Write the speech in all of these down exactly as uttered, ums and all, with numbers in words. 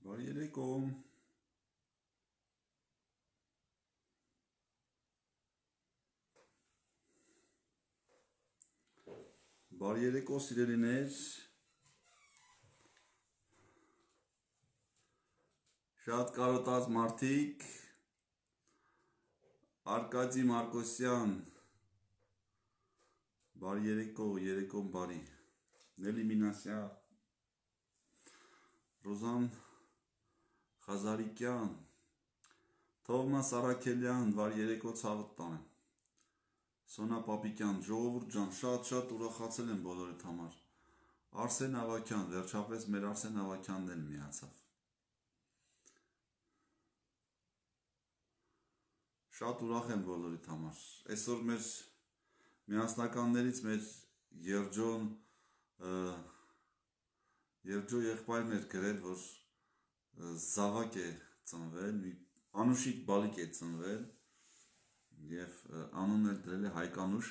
Բարի երեկո։ Բարի երեկո, սիրելիներ։ Շատ կարոտած մարդիկ։ Արկադի Մարկոսյան։ Բարի երեկո, երեկոն բարի։ Նելի Մինասյա։ Ռոզան Խազարիկյան, Թովմաս Արաքելյան, բարի երեկո ցավդ տանեմ։ Սոնա Պապիկյան, ժողովուրդ ջան, շատ-շատ ուրախացել եմ բոլորիդ համար։ Արսեն Ավակյան, վերջապես մեր Արսեն Ավակյանն էլ միացավ։ Շատ ուրախ եմ բոլորիդ համար։ Այսօր մեր միասնականներից մեր Երջոն Երջո եղբայրն էր գրել, որ զավակ է ծնվել, Անուշիկ բալիկ է ծնվել և անունն էլ դրել է Հայկանուշ,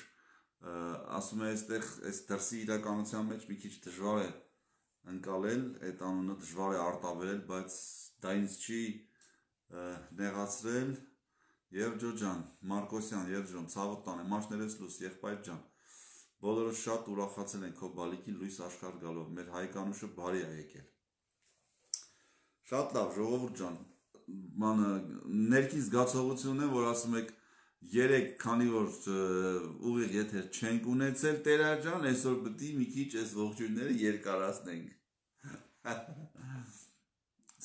ասում է այստեղ այս դրսի իրականության մեջ մի քիչ դժվար է ընկալել, այդ անունը դժվար է արտաբերել, բայց դա ինձ չի նեղացրել, Երջո ջան, Մարկոսյան, Երջոն, ցավդ տանեմ, մաշներես լույս, եղբայր ջան, բոլորը շատ ուրախացել են քո բալիկի լույս աշխարհ գալով, մեր Հայկանուշը բարի է եկել։ Շատ լավ, ժողովուրդ ջան, մանը ներքին զգացողությունն է, որ ասում եք երեք, քանի որ ուղիղ եթեր չենք ունեցել Տերար ջան, այսօր պետք է մի քիչ այս ողջույնները երկարացնենք։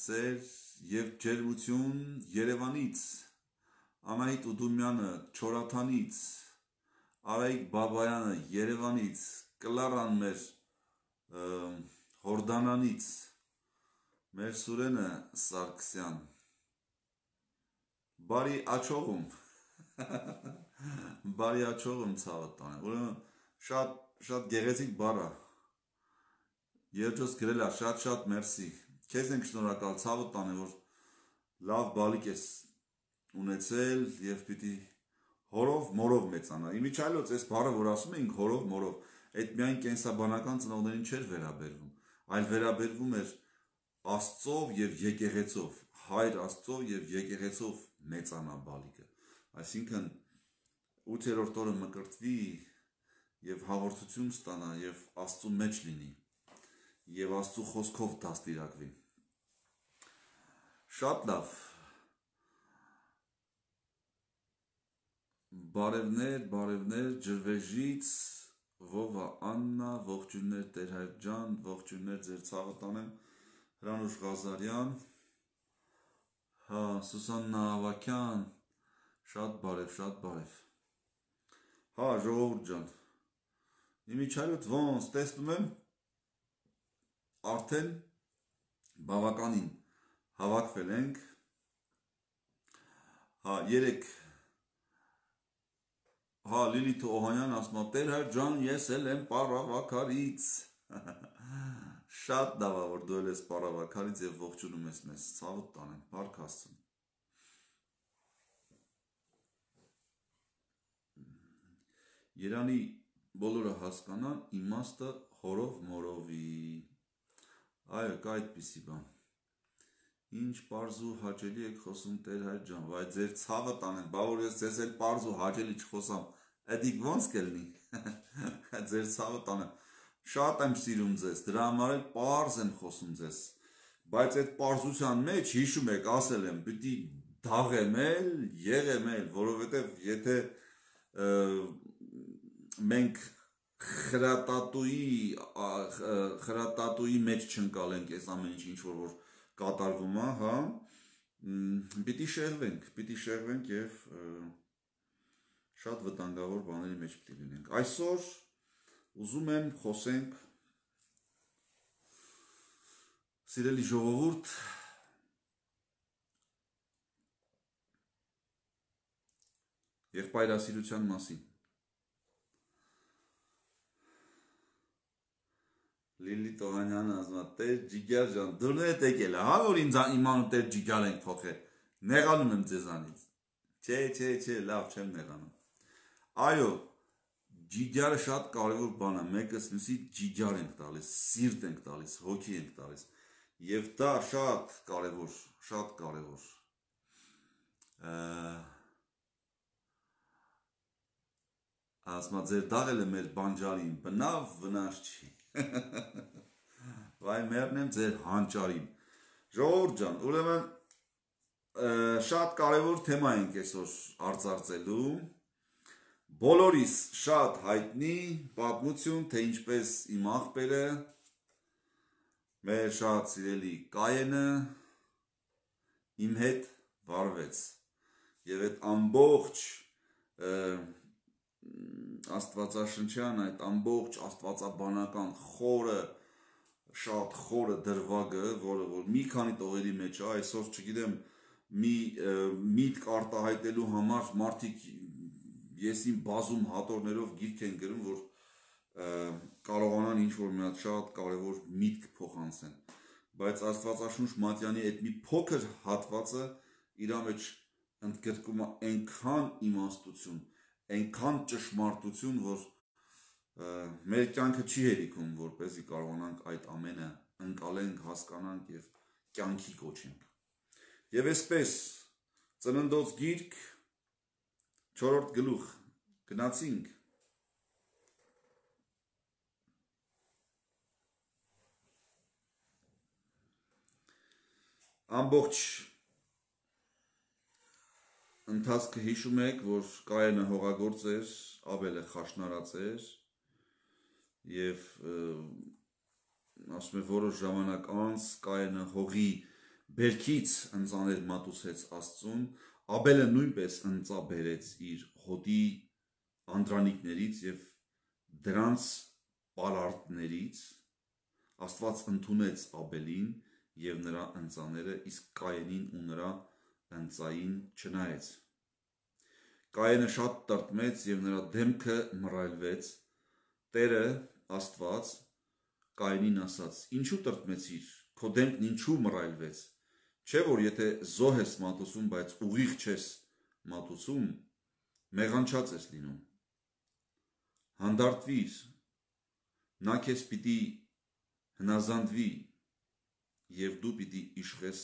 Սեր եւ ջերմություն Երևանից, Անահիտ Ուդումյանը Չորաթանից, Արայիկ Բաբայանը Երևանից, Կլարան մեր Հորդանանից, մեր Սուրենը Սարգսյան, բարի աչողում, բարի աչողում ցավդ տանեմ, ուրեմն շատ շատ գեղեցիկ բառ է, Երջոս գրել է, շատ-շատ մերսի, քեզ ենք շնորհակալ, ցավդ տանեմ, որ լավ բալիկ ես ունեցել եւ պիտի հորով մորով մեծանա։ Իմիջիայլոց այս բառը, որ ասում էինք հորով մորով, այդ միայն կենսաբանական ծնողներին չէր վերաբերվում, այլ վերաբերվում էր Աստծով եւ եկեղեցով, Հայր Աստծով եւ եկեղեցով մեծանա բալիկը։ Այսինքն ութերորդ օրը մկրտվի եւ հաղորդություն ստանա եւ Աստծու մեջ լինի եւ Աստծու խոսքով դաստիարակվի։ Շատ լավ։ Բարևներ, բարևներ, ջրվեժից, Վովա Աննա, ողջույններ Տերհայր ջան, ողջույններ ձեր ցավը տանեմ, Հրանուշ Ղազարյան, հա, Սուսաննա Ավակյան, շատ բարև, շատ բարև։ Հա, ժողովուրդ ջան, իմիջիայլոց ոնց տեսնում եմ, արդեն բավականին հավաքվել ենք, հա, երեք Հա, Լիլիթ Օհանյան ասում է, Տերհայր ջան, ես էլ եմ Պառավաքարից։ Շատ լավ է, որ դու էլ ես Պառավաքարից եւ ողջունում ես մեզ, ցավդ տանեմ, բարք Աստծուն։ Երանի բոլորը հասկանան, իմաստը հորով մորովի։ Այո, կա այդպիսի բան։ Ինչ պարզ ու հաճելի եք խոսում Տերհայր ջան, վայ ձեր ցավը տանեմ, բա որ ես ձեզ էլ պարզ ու հաճելի չխոսամ, էդիկ ոնց կլինի։ Ձեր ցավը տանեմ։ Շատ եմ սիրում ձեզ, դրա համար էլ պարզ եմ խոսում ձեզ։ Բայց այդ պարզության մեջ հիշում եք, ասել եմ, պիտի դաղեմ էլ, եղեմ էլ, որովհետև եթե մենք խրատատուի խրատատուի մեջ չընկալենք այս ամեն ինչ, ինչ որ որ կատարվում է, հա, պիտի շեղվենք, պիտի շեղվենք եւ շատ վտանգավոր բաների մեջ պիտի լինենք։ Այսօր ուզում եմ խոսենք, սիրելի ժողովուրդ, եղբայրասիրության մասին։ Լիլիթ Օհանյանը ասում է, Տեր Ջիգար ջան, դուրն է եկել, հա, որ ինձ իմանու Տեր Ջիգար ենք փոխել, նեղանում եմ ձեզանից։ Չէ, չէ, չէ, լավ չեմ նեղանում։ Այո, Ջիգարը շատ կարևոր բան է, մեկս մյուսի ջիգար ենք տալիս, սիրտ ենք տալիս, հոգի ենք տալիս։ Եվ դա շատ կարևոր, շատ կարևոր։ Ասма ձեր դաղելը մեր բանջարին, բնավ վնաս չի։ Վայ մերն եմ ձեր հանճարին։ Ժողովուրդ ջան, ուրեմն շատ կարևոր թեմա ենք այսօր արծարծելու։ Բոլորիս շատ հայտնի պատմություն, թե ինչպես իմ աղբերը, մեր շատ սիրելի Կայենը իմ հետ վարվեց։ Եվ այդ ամբողջ աստվածաշնչյան, այդ ամբողջ աստվածաբանական խորը, շատ խորը դրվագը, որը որ մի քանի տողերի մեջ է, այսօր չգիտեմ, մի միտք արտահայտելու համար մարդիկ եսին բազում հատորներով գիրք են գրում, որ կարողանան ինչ-որ մի հատ շատ կարևոր միտք փոխանցեն, բայց Աստվածաշունչ Մատյանի այդ մի փոքր հատվածը իր մեջ ընդգրկում է այնքան իմաստություն, այնքան ճշմարտություն, որ մեր կյանքը չի հերիքում, որպեսզի կարողանանք այդ ամենը ընկալենք, հասկանանք եւ կյանքի կոչենք։ Եվ այսպես ծննդոց գիրք չորրորդ գլուխ գնացինք։ Ամբողջ ընթացքը հիշում եք, որ Կայենը հողագործ էր, Աբելը խաշնարած էր եւ ասում է որոշ ժամանակ անց Կայենը հողի բերքից ընծաներ մատուցեց Աստծուն, Աբելը նույնպես ընծա բերեց իր հոտի անդրանիկներից եւ դրանց պարարտներից, Աստված ընդունեց Աբելին եւ նրա ընծաները, իսկ Կայենին ու նրա ընծային չնայեց։ Կայենը շատ տրտմեց եւ նրա դեմքը մռայլվեց։ Տերը Աստված Կայենին ասաց. «Ինչու տրտմեցիր, քո դեմքն ինչու մռայլվեց, չէ՞ որ եթե զոհ ես մատուցում, բայց ուղիղ չես մատուցում, մեղանչած ես լինում։ Հանդարտվիր, նա քեզ պիտի հնազանդվի եւ դու պիտի իշխես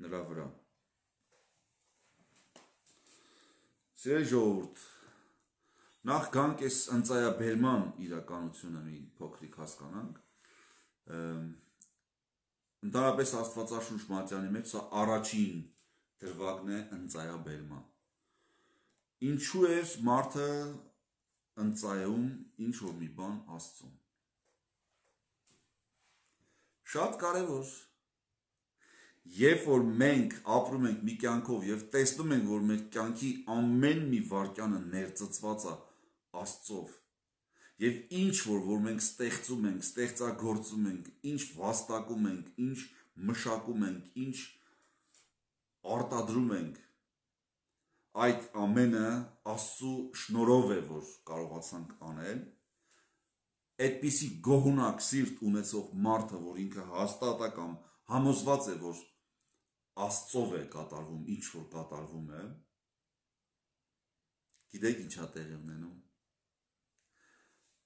նրա վրա»։ Սիրելի ժողովուրդ, նախ գանք այս ընծայաբերման իրականությունը մի փոքրիկ հասկանանք։ Ընդհանրապես Աստվածաշունչ Մատյանի մեջ սա առաջին դրվագն է ընծայաբերման։ Ինչու էր մարդը ընծայում ինչ-որ մի բան Աստծուն։ Շատ կարևոր։ Երբ որ մենք ապրում ենք մի կյանքով եւ տեսնում ենք, որ մեր կյանքի ամեն մի վարքյանը ներծծված է Աստծով, եւ ինչ որ որ մենք ստեղծում ենք, ստեղծագործում ենք, ինչ վաստակում ենք, ինչ մշակում ենք, ինչ արտադրում ենք, այդ ամենը Աստծու շնորհով է, որ կարողացանք անել։ Այդպիսի գոհունակ սիրտ ունեցող մարդը, որ ինքը հաստատ է կամ համոզված է, որ Աստծով է կատարվում, ինչ որ կատարվում է, գիտեք ինչա տեղի ունենում։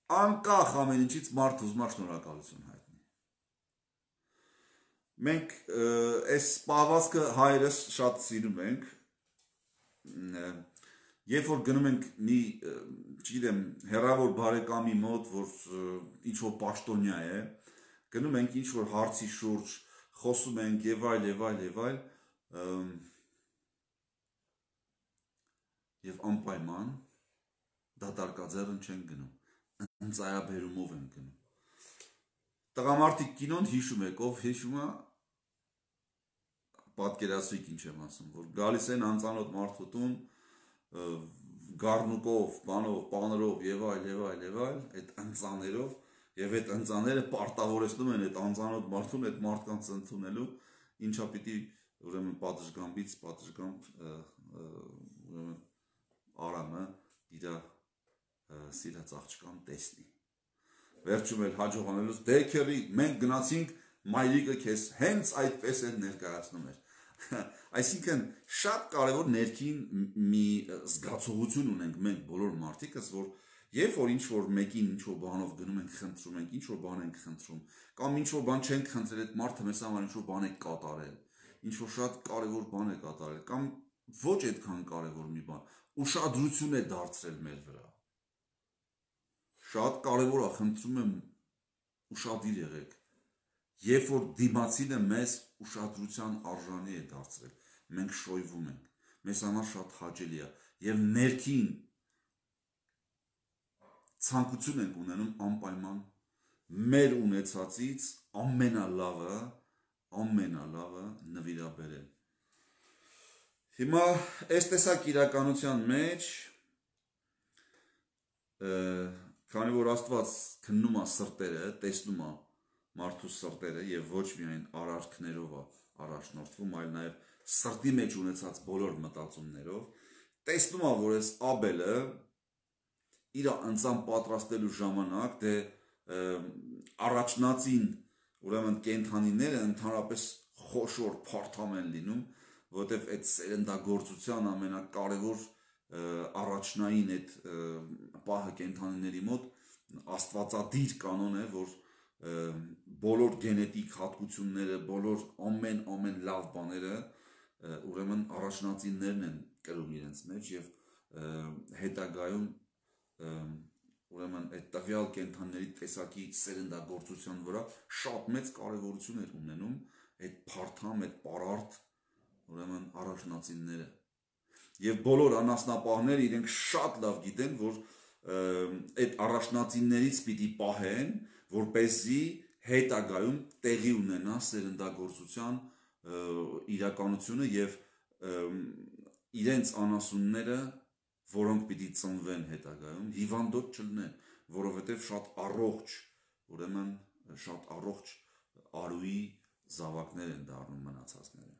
Անկախ ամեն ինչից մարդը ուզում է շնորհակալություն հայտնի։ Մենք այս պահվածքը հայերս շատ սիրում ենք, երբ որ գնում ենք մի, չգիտեմ, հեռավոր բարեկամի մոտ, որ ինչ որ պաշտոնյա է, գնում ենք ինչ որ հարցի շուրջ, խոսում ենք եւ այլ եւ այլ եւ այլ, եւ անպայման դատարկաձեռն չեն գնում, ընծայաբերումով են գնում։ Տղամարդիկ կինոն հիշում եք, ով հիշում է, պատկերացրիք ինչ եմ ասում, որ գալիս են անծանոթ մարդու տուն, գառնուկով, բանով, պաներով եւ այլ եւ այլ եւ այլ, այդ ընծաներով, եւ այդ ընծաները պարտավորեցնում են այդ անծանոթ մարդուն այդ մարդկանց ընդունելու, ինչա պիտի ուրեմն պատշգամբից պատշգամբ ուրեմն Արամը իր սիրած աղջկան տեսնի։ Վերջում էլ հաջողանելուց դե քերի մենք գնացինք մայրիկը քեզ հենց այդպես էլ ներկայացնում էր։ Այսինքն շատ կարևոր ներքին մի զգացողություն ունենք մենք բոլոր մարդիկս, որ Երբ որ ինչ որ մեկին ինչ որ բանով գնում ենք խնդրում ենք, ինչ որ բան ենք խնդրում, կամ ինչ որ բան չենք խնդրել, այդ մարդը մեզ համար ինչ որ բան է կատարել, ինչ որ շատ կարևոր բան է կատարել, կամ ոչ այդքան կարևոր մի բան, ուշադրություն է դարձրել մեր վրա։ Շատ կարևոր է, խնդրում եմ, ուշադիր եղեք։ Երբ որ դիմացինը մեզ ուշադրության արժանի է դարձրել, մենք շոյվում ենք, մեզ համար շատ հաճելի է եւ ներքին ցանկություն ենք ունենում անպայման մեր ունեցածից ամենալավը, ամենալավը նվիրաբերել։ Հիմա այս տեսակ իրականության մեջ, քանի որ Աստված քննում է սրտերը, տեսնում է մարդու սրտերը եւ ոչ միայն արարքներով է առաջնորդվում, այլ նաեւ սրտի մեջ ունեցած բոլոր մտածումներով, տեսնում է, որ այս Աբելը իր անձան պատրաստելու ժամանակ դե առաջնածին ուրեմն կենդանիները ընդհանրապես խոշոր փարթամ են լինում, որտեվ այդ սերնդագործության ամենակարևոր առաջնային այդ պահը կենդանիների մոտ աստվածադիր կանոն է, որ բոլոր գենետիկ հատկությունները, բոլոր ամեն ամեն լավ բաները ուրեմն առաջնածիններն են կրում իրենց մեջ եւ հետագայում ուրեմն այդ տվյալ կենդանիների տեսակի սերնդագործության վրա շատ մեծ կարևորություն էր ունենում այդ փարթամ, այդ պարարտ ուրեմն առաջնածինները։ Եվ բոլոր անասնապահները իրենք շատ լավ գիտեն, որ այդ առաջնածիններից պիտի պահեն, որպեսզի հետագայում տեղի ունենա սերնդագործության իրականությունը եւ իրենց անասունները, որոնք պիտի ծնվեն հետագայում, հիվանդոտ չլինեն, որովհետև շատ առողջ, ուրեմն շատ առողջ արուի զավակներ են դառնում մնացածները։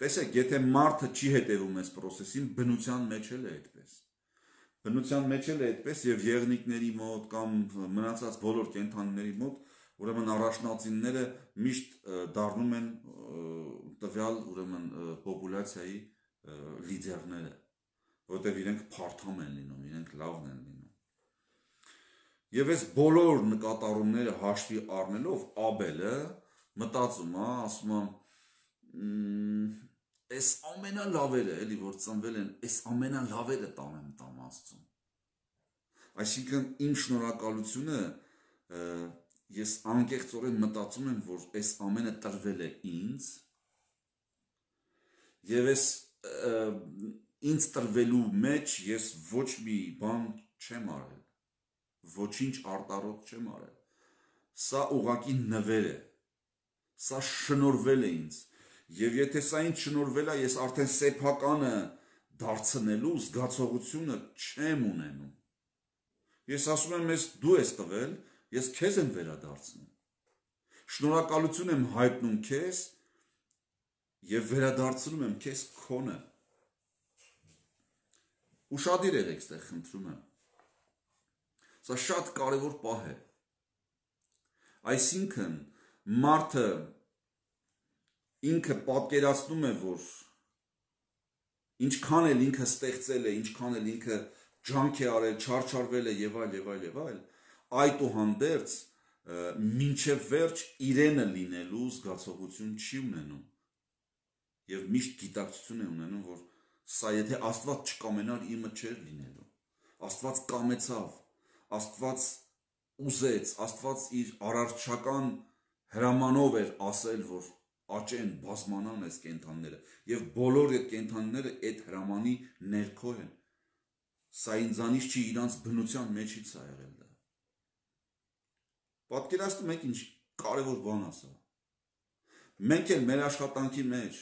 Տեսեք, եթե մարդը չի հետևում այս process-ին, բնության մեջ էլ է այդպես։ Բնության մեջ էլ է այդպես եւ եղնիկների մոտ կամ մնացած բոլոր կենդանիների մոտ, ուրեմն առաջնածինները միշտ դառնում են տվյալ ուրեմն պոպուլյացիայի լիդերները, որտեղ իրենք փարթամ են լինում, իրենք լավն են լինում։ Եվ այս բոլոր նկատառումները հաշվի առնելով Աբելը մտածում է, ասում է, այս ամենալավերը, էլի որ ծնվել են, այս ամենալավերը տանեմ տամ Աստծուն։ Այսինքն իմ շնորհակալությունը ես անկեղծորեն մտածում եմ, որ այս ամենը տրվել է ինձ եւ այս ինձ տրվելու մեջ ես ոչ մի բան չեմ արել, ոչինչ արտառոտ չեմ արել։ Սա ուղղակի նվեր է, սա շնորհվել է ինձ, եւ եթե սա ինձ շնորհվել է, ես արդեն սեփականը դարձնելու զգացողությունը չեմ ունենում։ Ես ասում եմ, ես դու ես տվել, ես քեզ եմ վերադարձնում։ Շնորհակալություն եմ հայտնում քեզ եւ վերադարձնում եմ քեզ քոնը։ Ուշադիր եղեք այստեղ, խնդրում եմ։ Սա շատ կարևոր պահ է։ Այսինքն մարդը ինքը պատկերացնում է, որ ինչքան էլ ինքը ստեղծել է, ինչքան էլ ինքը ջանք է արել, չարչարվել է եւ այլ եւ այլ եւ այլ, այդուհանդերձ մինչև վերջ իրենը լինելու զգացողություն չի ունենում եւ միշտ գիտակցություն է ունենում, որ սա եթե Աստված չկամենար, իմը չէր լինելու։ Աստված կամեցավ, Աստված ուզեց, Աստված իր արարչական հրամանով էր ասել, որ աճեն, բազմանան այս կենդանները եւ բոլոր այդ կենդանները այդ հրամանի ներքո են։ Սա ինձանից չի, իրանց բնության մեջից է եղել դա։ Պատկերացնում եք ինչ կարևոր բան է սա։ Մենք էլ մեր աշխատանքի մեջ,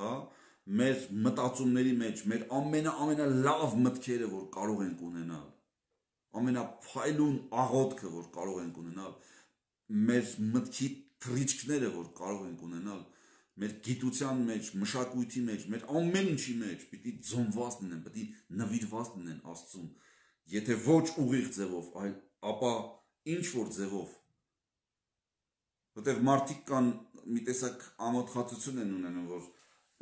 հա, մեր մտածումների մեջ, մեր ամենա-ամենալավ մտքերը, որ կարող ենք ունենալ, ամենափայլուն աղոթքը, որ կարող ենք ունենալ, մեր մտքի թռիչքները, որ կարող ենք ունենալ, մեր գիտության մեջ, մշակույթի մեջ, մեր ամեն ինչի մեջ պիտի ձոնված լինեն, պիտի նվիրված լինեն Աստծուն, եթե ոչ ուղիղ ձևով, այլ ապա ինչ որ ձևով, որտեղ մարդիկ կան մի տեսակ ամոթխածություն են ունենում, որ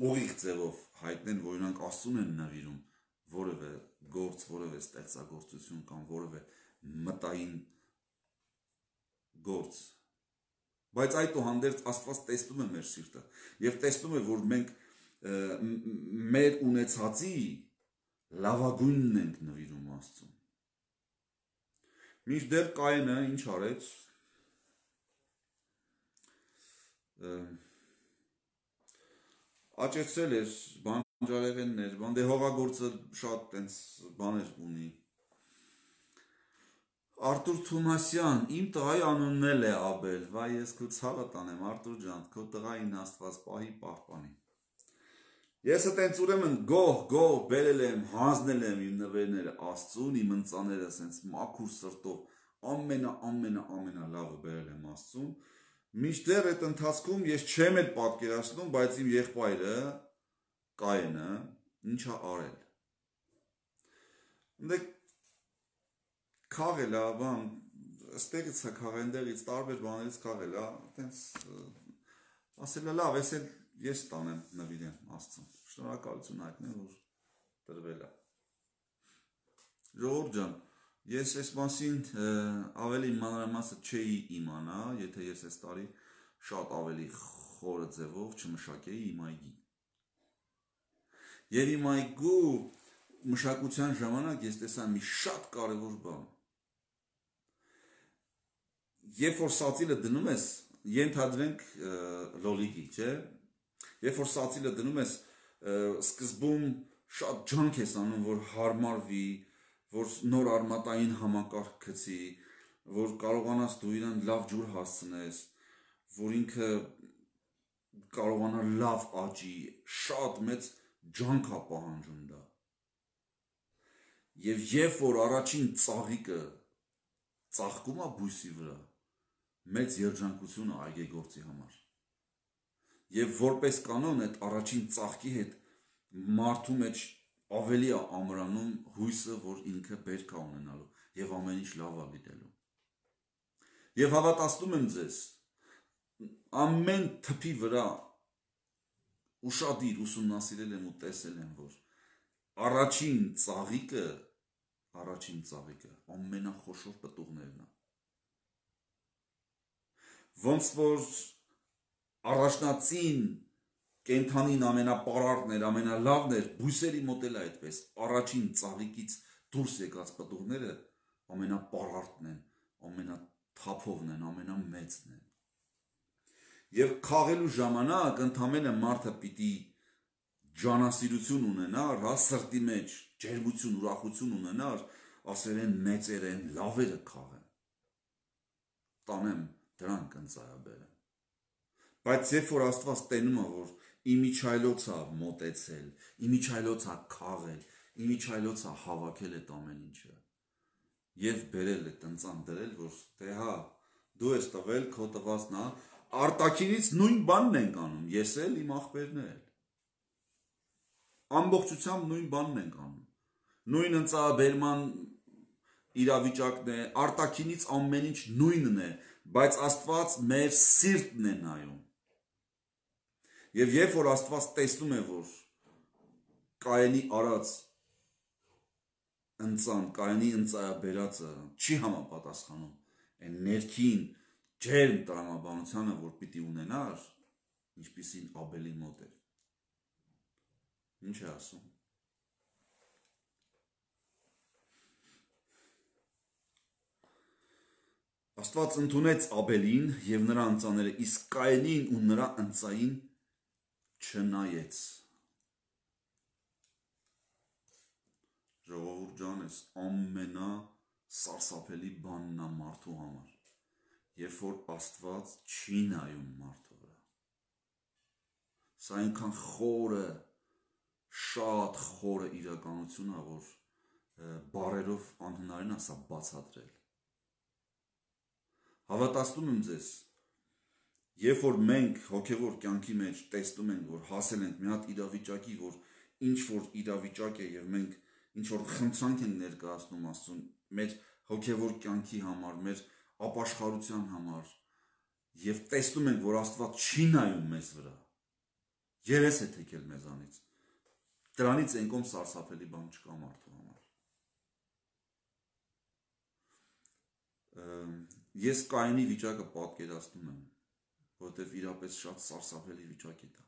ուղիղ ձևով հայտնեն, որ իրանք Աստծուն են նվիրում որևէ գործ, որևէ ստեղծագործություն կամ որևէ մտային գործ, բայց այդուհանդերձ Աստված տեսնում է մեր սիրտը եւ տեսնում է, որ մենք մեր ունեցածի լավագույնն ենք նվիրում Աստծուն։ Մինչդեռ Կայենը ինչ արեց, աճեցրել էր բանջարեղեններ, բան դե հողագործը շատ տենց բաներ ունի։ Արտուր Թումասյան, իմ տղայի անունն էլ է Աբել, վայ ես քո ցավը տանեմ, Արտուր ջան, քո տղային Աստված պահի պահպանի։ Ես այտենց ուրեմն գոհ, գոհ բերել եմ, հանձնել եմ իմ նվերները Աստծուն, իմ ընծաները ասենց մաքուր սրտով, ամենա ամենա ամենա լավը բերել եմ Աստծուն։ Մինչդեռ այդ ընթացքում ես չեմ էլ պատկերացնում, բայց իմ եղբայրը Կայենը ինչա արել։ Դե քաղել է, բան, ստեղից է քաղել, ընդեղից տարբեր բաներից քաղել է, այտենց ասել է լավ, ես էլ ես տանեմ նվիրեմ Աստծուն։ Շնորհակալություն հայտնեմ, որ տրվել է։ Ժողովուրդ ջան, ես այս մասին ավելի մանրամասը չէի իմանա, եթե ես այս տարի շատ ավելի խորը ձևով չմշակեի իմ այգին։ Եվ իմ այգու մշակության ժամանակ ես տեսա մի շատ կարևոր բան։ Երբ որ սածիլը դնում ես, ենթադրենք լոլիկի, չէ՞։ Երբ որ սածիլը դնում ես, սկզբում շատ ջանք ես անում, որ հարմարվի, որ նոր արմատային համակարգ գցի, որ կարողանաս դու իրան լավ ջուր հասցնես, որ ինքը կարողանա լավ աճի, շատ մեծ ջանք է պահանջում դա։ Եվ երբ որ առաջին ծաղիկը ծաղկում է բույսի վրա, մեծ երջանկություն է այգեգործի համար։ Եվ որպես կանոն այդ առաջին ծաղկի հետ մարդու մեջ ավելի է ամրանում հույսը, որ ինքը բերք է ունենալու եւ ամեն ինչ լավ է լինելու։ Եվ հավատացնում եմ ձեզ, ամեն թփի վրա ուշադիր ուսումնասիրել եմ ու տեսել եմ, որ առաջին ծաղիկը, առաջին ծաղիկը ամենախոշոր պտուղներն է։ Ոնց որ առաջնածին կենթանին ամենապարարտն էր, ամենալավն էր, բույսերի մոտ էլ այդպես, առաջին ծաղիկից դուրս եկած պտուղները ամենապարարտն են, ամենաթափովն են, ամենամեծն են։ Եվ քաղելու ժամանակ ընդամենը մարդը պիտի ջանասիրություն ունենար, հա, սրտի մեջ ջերմություն, ուրախություն ունենար, ասել են մեծեր են, լավերը քաղեն։ Տանեմ դրանք ընծայաբերեմ։ Բայց երբ որ Աստված տենում է, որ իմիջայլոց է մոտեցել, իմիջայլոց է քաղել, իմիջայլոց է հավաքել այդ ամեն ինչը, եւ բերել է տնծան դրել, որ դե հա, դու ես տվել, քո տվածն է, արտաքինից նույն բանն ենք անում, ես էլ իմ աղբերն էլ։ Ամբողջությամբ նույն բանն ենք անում։ Նույն ընծայաբերման իրավիճակն է, արտաքինից ամեն ինչ նույնն է, բայց Աստված մեր սիրտն է նայում։ Եվ երբ որ Աստված տեսնում է, որ Կայենի արած ընծան, Կայենի ընծայաբերածը չի համապատասխանում այն ներքին ջերմ տրամաբանությանը, որ պիտի ունենար, ինչպիսին Աբելի մոտ էր։ Ինչ է ասում։ Աստված ընդունեց Աբելին եւ նրա ընծաները, իսկ Կայենին ու նրա ընծային չնայեց։ Ժողովուրդ ջան, ես ամենա սարսափելի բանն է մարդու համար, երբ որ Աստված չի նայում մարդու վրա։ Սա այնքան խորը, շատ խորը իրականություն է, որ բառերով անհնարին է սա բացատրել։ Հավատացնում եմ ձեզ, երբ որ մենք հոգևոր կյանքի մեջ տեսնում ենք, որ հասել ենք մի հատ իրավիճակի, որ ինչ որ իրավիճակ է եւ մենք ինչ որ խնդրանք ենք ներկայացնում Աստծուն մեր հոգևոր կյանքի համար, մեր ապաշխարության համար, եւ տեսնում ենք, որ Աստված չի նայում մեզ վրա, երես է թեքել մեզանից, դրանից ենկոմ սարսափելի բան չկա մարդու համար։ Ես Կայինի վիճակը պատկերացնում եմ, որովհետև իրապես շատ սարսափելի վիճակ է դա։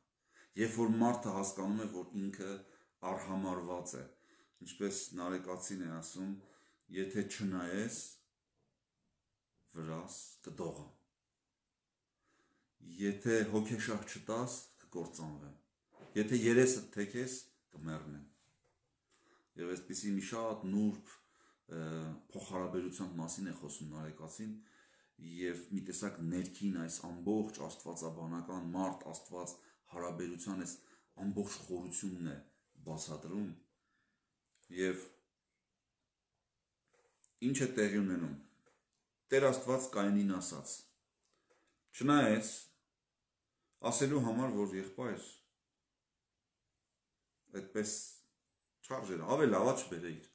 Երբ որ մարդը հասկանում է, որ ինքը արհամարված է, ինչպես Նարեկացին է ասում, եթե չնայես, վրաս կդողա, եթե հոգեշահ չտաս, կկործանվեմ, եթե երեսը թեքես, կմեռնեմ։ Եվ այսպիսի մի շատ նուրբ փոխհարաբերության մասին է խոսում Նարեկացին, և մի տեսակ ներքին այս ամբողջ աստվածաբանական մարդ աստված հարաբերության այս ամբողջ խորությունն է բացատրում, և ինչ է տեղի ունենում։ Տեր Աստված Կայինին ասաց. չնայես ասելու համար, որ եղբայր այդպես չարժեր, ավելի լավա չբերեիր,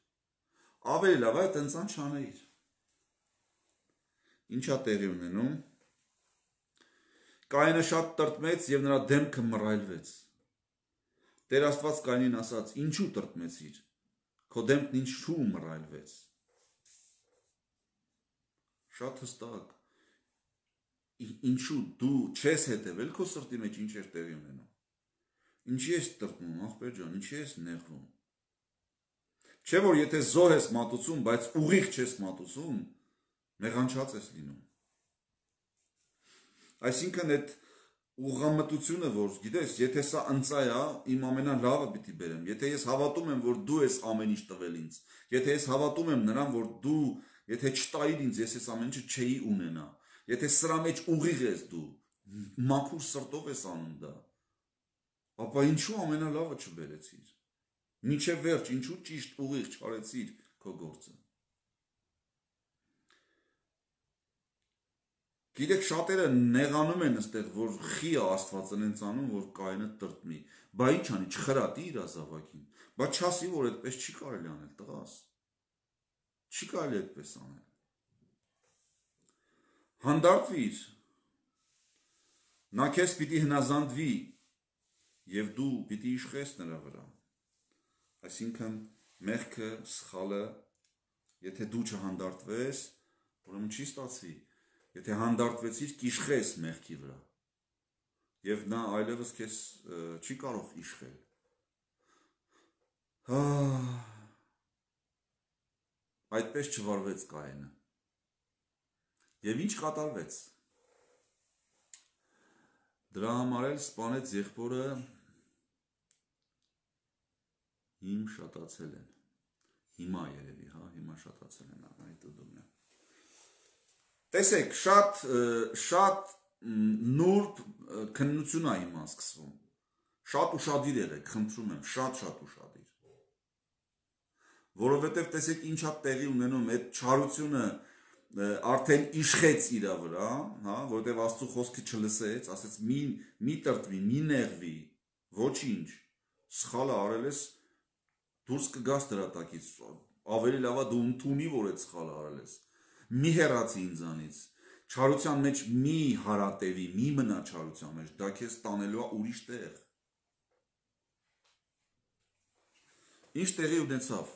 ավելի լավա է տնցան չանեիր։ Ինչա տեղի ունենում։ Կայինը շատ տրտմեց և նրա դեմքը մռայլվեց։ Տեր Աստված Կայինին ասաց. ինչու տրտմեցիր, քո դեմքն ինչու մռայլվեց։ Շատ հստակ, ինչու դու չես հետևել քո սրտի մեջ ինչ էր տեղի ունենում։ Ինչի ես տրտմում, ախպեր ջան, ինչի ես նեղվում։ Չէ որ եթե զոհ ես մատուցում, բայց ուղիղ չես մատուցում, մեղանչած ես լինում։ Այսինքն այդ ուղղամտությունը, որ գիտես, եթե սա ընծայ է, իմ ամենալավը պիտի բերեմ, եթե ես հավատում եմ, որ դու ես ամեն ինչ տվել ինձ, եթե ես հավատում եմ նրան, որ դու, եթե չտայիր ինձ, ես ես ամեն ինչը չէի ունենա, եթե սրա մեջ ուղիղ ես դու, մաքուր սրտով ես անում դա, ապա ինչու ամենալավը չբերեցիր, մինչև վերջ, ինչու ճիշտ ուղիղ չարեցիր քո գործը։ Գիտեք, շատերը նեղանում են այստեղ, որ խի է Աստված այնց անում, որ Կայինը տրտմի, բա ինչ անի, չխրատի իր ազավակին, բա չասի, որ այդպես չի կարելի անել, տղաս, չի կարելի այդպես անել։ Հանդարտվիր, նա քեզ պիտի հնազանդվի, և դու պիտի իշխես նրա վրա։ Այսինքն մեղքը, սխալը, եթե դու չհանդարտվես, ուրեմն չի ստացվի։ Եթե հանդարտվեցիր, կիշխես մեղքի վրա, և նա այլևս քեզ չի կարող իշխել։ Այդպես չվարվեց Կայինը։ Եվ ինչ կատարվեց։ Դրա համար էլ սպանեց եղբորը, հիմ շատացել են, հիմա երևի, հա, հիմա շատացել են, այդ ուդում է։ Տեսեք, շատ, շատ նուրբ քննություն է հիմա սկսվում, շատ ուշադիր եղեք, խնդրում եմ, շատ-շատ ուշադիր, որովհետև տեսեք ինչա տեղի ունենում, այդ չարությունը արդեն իշխեց իրա վրա, հա, որովհետև Աստծո խոսքը չլսեց, ասեց մի, մի տրտվի, մի նեղվի, ոչինչ, սխալը արել ես, դուրս կգաս դրա տակից, ավելի լավա դու ընդունի, որ այդ սխալը արել ես, մի հեռացի ինձանից, չարության մեջ մի հարատևի, մի մնա չարության մեջ, դա քեզ տանելու է ուրիշ տեղ։ Ինչ տեղի ունեցավ։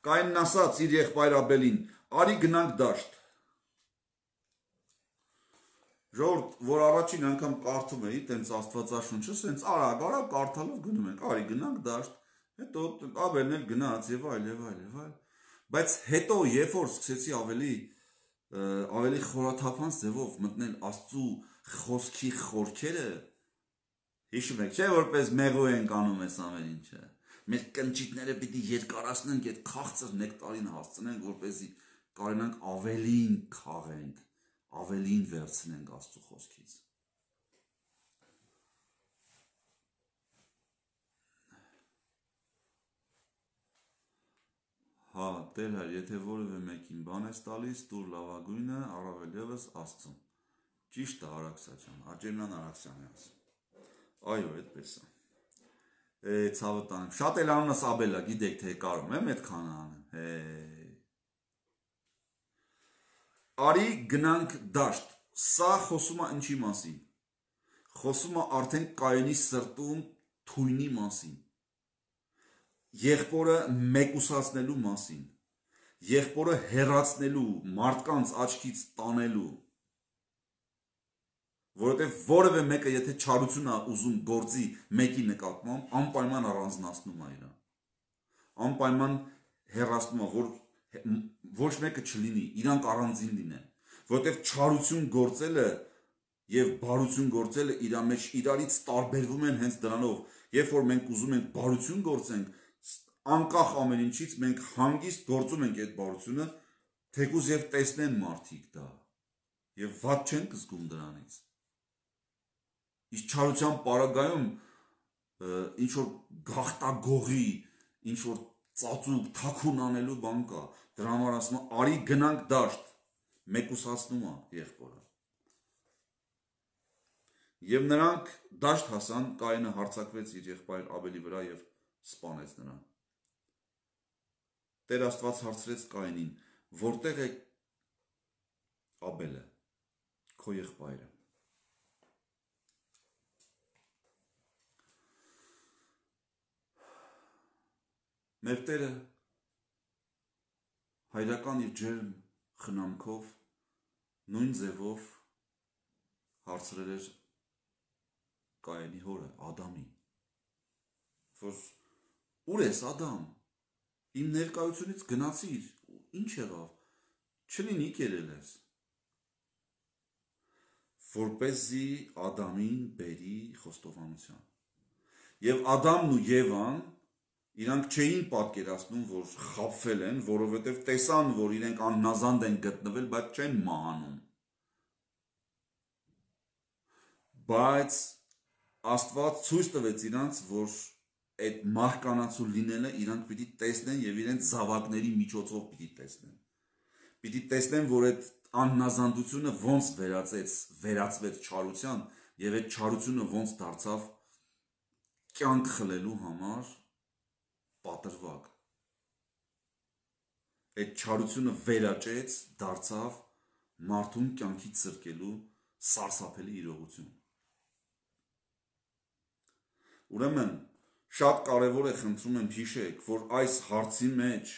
Կայինն ասաց իր եղբայր Աբելին, արի գնանք դաշտ։ Ժողովուրդ, որ առաջին անգամ կարդում էի, տենց Աստվածաշունչը, սենց արագ, արագ կարդալով գնում ենք, արի գնանք դաշտ, հետո Աբելն էլ գնաց եւ այլ եւ այլ եւ այլ։ Բայց հետո երբ որ սկսեցի ավելի ավելի խորաթափանց ձևով մտնել Աստծու խոսքի խորքերը, հիշում եք, չէ՞ որպես մեղու ենք անում այս ամեն ինչը։ Մեր կնճիթները պիտի երկարացնենք, այդ քաղցր նեկտարին հասցնենք, որպեսզի կարողանանք ավելին քաղենք, ավելին վերցնենք Աստծու խոսքից։ Հա, Տեր հայր, եթե որևէ մեկին բան ես տալիս, տուր լավագույնը, առավել ևս Աստծուն։ Ճիշտ է Արաքսա ջան, Աջեմյան Արաքսյան է ասում։ Այո, այդպես է։ Է, ցավը տանեմ։ Շատ էլ անունս Աբելա, գիտեք թե կարում եմ այդքան անեմ։ Հե։ Արի գնանք դաշտ։ Սա խոսում է ինչի մասին։ Խոսում է արդեն Կայինի սրտում թույնի մասին։ Եղբորը մեկուսացնելու մասին, եղբորը հեռացնելու, մարդկանց աչքից տանելու, որովհետև որևէ մեկը եթե չարություն է ուզում գործի մեկի նկատմամբ, անպայման առանձնացնում է իրան, անպայման հեռացնում է, որ ոչ մեկը չլինի, իրանք առանձին լինեն, որովհետև չարություն գործելը եւ բարություն գործելը իր մեջ իրարից տարբերվում են հենց դրանով, երբ որ մենք ուզում ենք բարություն գործենք, անկախ ամեն ինչից մենք հանգիստ գործում ենք այդ բարությունը, թեկուզ եւ տեսնեն մարդիկ դա եւ ված չենք զգում դրանից։ Իսկ չարության պարագայում ինչ որ գախտագողի, ինչ որ ծածուկ, թաքուն անելու բան կա, դրա համար ասում եմ, արի գնանք դաշտ, մեկուսացնում է եղբորը։ Եվ նրանք դաշտ հասան, Կայինը հարձակվեց իր եղբայր Աբելի վրա եւ սպանեց նրան։ Տեր Աստված հարցրեց Կայինին. որտեղ է Աբելը, քո եղբայրը։ Մեր Տերը հայրական իր ջերմ խնամքով նույն ձևով հարցրել էր Կայինի հորը, Ադամին, որ ուր ես Ադամ, իմ ներկայությունից գնացիր, ինչ եղավ, չլինի կերել ես, որպեսզի Ադամին բերի խոստովանության։ Եվ Ադամն ու Եվան իրանք չէին պատկերացնում, որ խաբվել են, որովհետև տեսան, որ իրենք անհնազանդ են գտնվել, բայց չեն մահանում։ Բայց Աստված ցույց տվեց իրանց, որ այդ մահկանացու լինելը իրանք պիտի տեսնեն եւ իրենց զավակների միջոցով պիտի տեսնեն։ Պիտի տեսնեն, որ այդ անհնազանդությունը ոնց վերածեց, վերածվեց չարության եւ այդ չարությունը ոնց դարձավ կյանք խլելու համար պատրվակ։ Այդ չարությունը վերաճեց, դարձավ մարդուն կյանքից սրկելու սարսափելի իրողություն։ Ուրեմն շատ կարևոր է, խնդրում եմ հիշեք, որ այս հարցի մեջ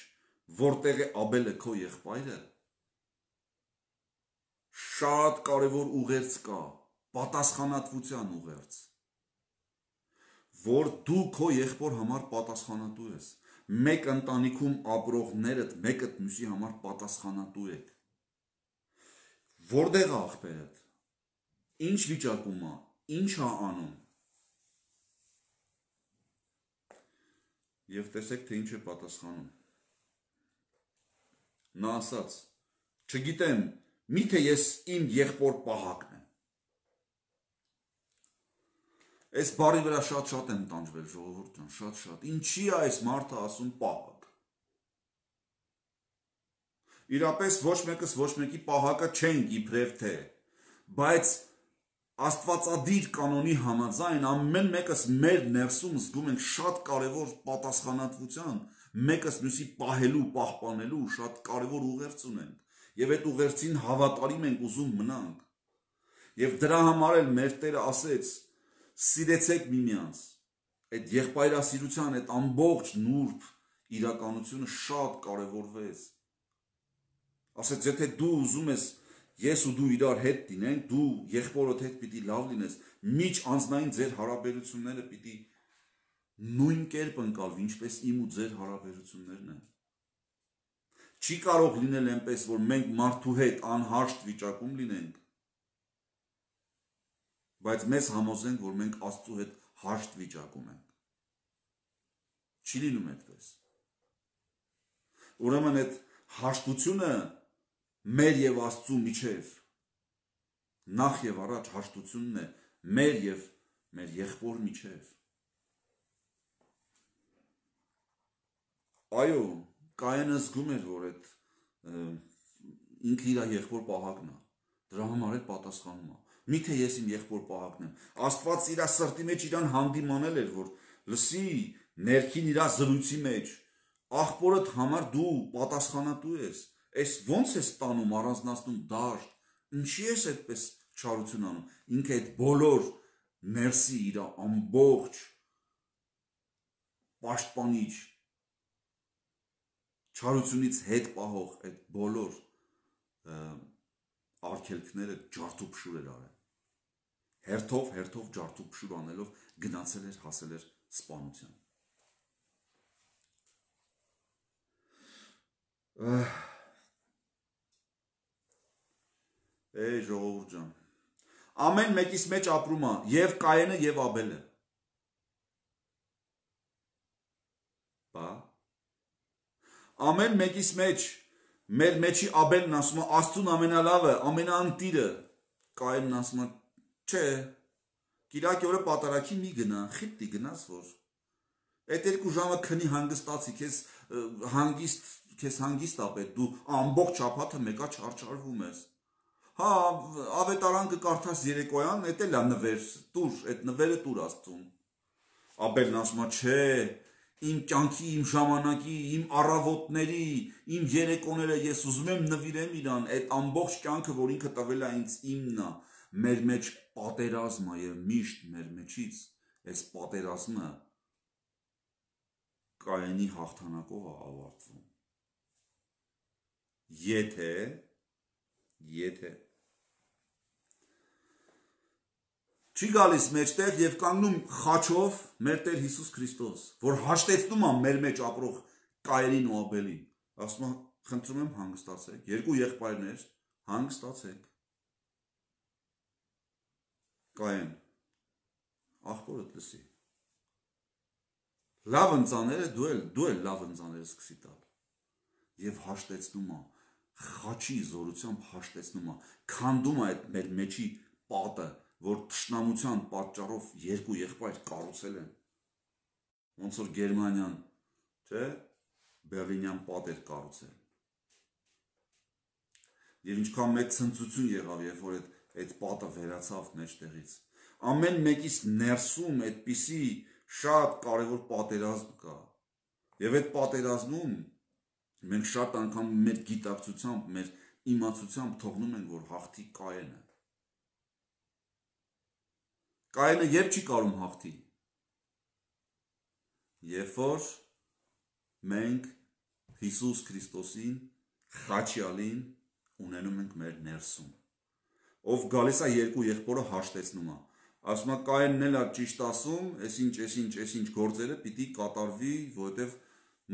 որտեղ է Աբելը քո եղբայրը, շատ կարևոր ուղերձ կա, պատասխանատվության ուղերձ, որ դու քո եղբոր համար պատասխանատու ես, մեկ ընտանիքում ապրողներդ մեկդ մյուսի համար պատասխանատու եք։ Որտեղ է աղբերդ, ինչ վիճակում է, ինչ է անում։ Եվ տեսեք, թե ինչ է պատասխանում։ Նա ասաց. չգիտեմ, միթե ես իմ եղբոր պահակն եմ։ Այս բառի վրա շատ-շատ եմ տանջվել, ժողովուրդ ջան, շատ-շատ։ Ինչի է այս մարդը ասում պահակ։ Իրապես ոչ մեկս ոչ մեկի պահակը չենք իբրև թե, բայց Աստվածադիր կանոնի համաձայն ամեն մեկս մեր ներսում զգում ենք շատ կարևոր պատասխանատվության, մեկս մյուսի պահելու, պահպանելու շատ կարևոր ուղերձ ունենք, եւ այդ ուղերձին հավատարիմ ենք ուզում մնանք։ Եվ դրա համար էլ մեր Տերը ասեց. սիրեցեք միմյանց։ Այդ եղբայրասիրության այդ ամբողջ նուրբ իրականությունը շատ կարևորվեց։ Ասեց, եթե դու ուզում ես ես ու դու իրար հետ լինենք, դու եղբորդ հետ պիտի լավ լինես, միջ անձնային ձեր հարաբերությունները պիտի նույն կերպ ընկալվի, ինչպես իմ ու ձեր հարաբերություններն են։ Չի կարող լինել այնպես, որ մենք մարդու հետ անհաշտ վիճակում լինենք, բայց մեզ համոզենք, որ մենք Աստծու հետ հաշտ վիճակում ենք։ Չի լինում այդպես։ Ուրեմն այդ հաշտությունը մեր եւ Աստծու միջև նախ եւ առաջ հաշտությունն է մեր եւ մեր եղբոր միջև։ Այո, Կայինը զգում էր, որ այդ ինքը իր եղբոր պահակն է, դրա համար էլ պատասխանում է։ Միթե ես իմ եղբոր պահակն եմ։ Աստված իր սրտի մեջ իրան հանդիմանել էր, որ լսի ներքին իր զրույցի մեջ աղբորդ համար դու պատասխանատու ես։ Այս ոնց է ստանում, առանձնացնում դաշտ, ինչի ես այդպես չարություն անում։ Ինքը այդ բոլոր ներսի իր ամբողջ պաշտպանիչ Չարությունից հետ պահող այդ բոլոր արգելքները ջարդուփշուր էր արել։ Հերթով, հերթով ջարդուփշուր անելով գնացել էր, հասել էր սպանության։ Էй ժողովուրդ ջան, ամեն մեկիս մեջ ապրում է եւ Կայենը եւ Աբելը։ Բա ամեն մեկիս մեջ մեր մեջի Աբելն ասում է Աստծուն ամենալավը, ամենաանտիրը, Կայենն ասում է չէ, Կիրակի օրը պատարակի մի գնա, խիպտի գնաս որ։ Այդ երկու ժամը քնի հանգստացի, քեզ հանգիստ, քեզ հանգիստ ապետ, դու ամբողջ շաբաթը մեկա չարչարվում ես։ Հա, ավետարան կկարդաս երեկոյան, էդ էլ է նվեր, տուր, այդ նվերը տուր Աստծուն։ Աբելն ասում է չէ, իմ կյանքի, իմ ժամանակի, իմ առավոտների, իմ երեկոները ես ուզում եմ նվիրեմ իրան, այդ ամբողջ կյանքը, որ ինքը տվել է ինձ իմն է, մեր մեջ պատերազմ է եւ միշտ մեր մեջից այս պատերազմը Կայենի հաղթանակով է ավարտվում։ Եթե եթե չի գալիս մեջտեղ եւ կանգնում խաչով մեր Տեր Հիսուս Քրիստոս, որ հաշտեցնում է մեր մեջ ապրող Կայենին ու Աբելին, ասում է խնդրում եմ հանգստացեք, երկու եղբայրներ, հանգստացեք։ Կայեն, աղբորդ լսի։ Լավ ընծաները դու էլ, դու էլ լավ ընծաները սկսի տալ։ Եվ հաշտեցնում է, խաչի զորությամբ հաշտեցնում է, քանդում է այդ մեր մեջի պատը, որ թշնամության պատճառով երկու եղբայր կառուցել են։ Ոնց որ Գերմանիան, չէ, Բերլինյան պատ էր կառուցել։ Եվ ինչքան մեծ ցնծություն եղավ, երբ որ այդ այդ պատը վերացավ մեջտեղից։ Ամեն մեկից ներսում այդպիսի շատ կարևոր պատերազմ կա։ Եվ այդ պատերազմում մենք շատ անգամ մեր գիտակցությամբ, մեր իմացությամբ թողնում ենք, որ հաղթի Կայենը։ Կայենը երբ չի կարում հաղթի։ Երբ որ մենք Հիսուս Քրիստոսին, Խաչյալին ունենում ենք մեր ներսում։ Ով գալիս է երկու եղբորը հաշտեցնում է։ Ասում է Կայենն էլ է ճիշտ ասում, այսինչ, այսինչ, այսինչ գործերը պիտի կատարվի, որովհետև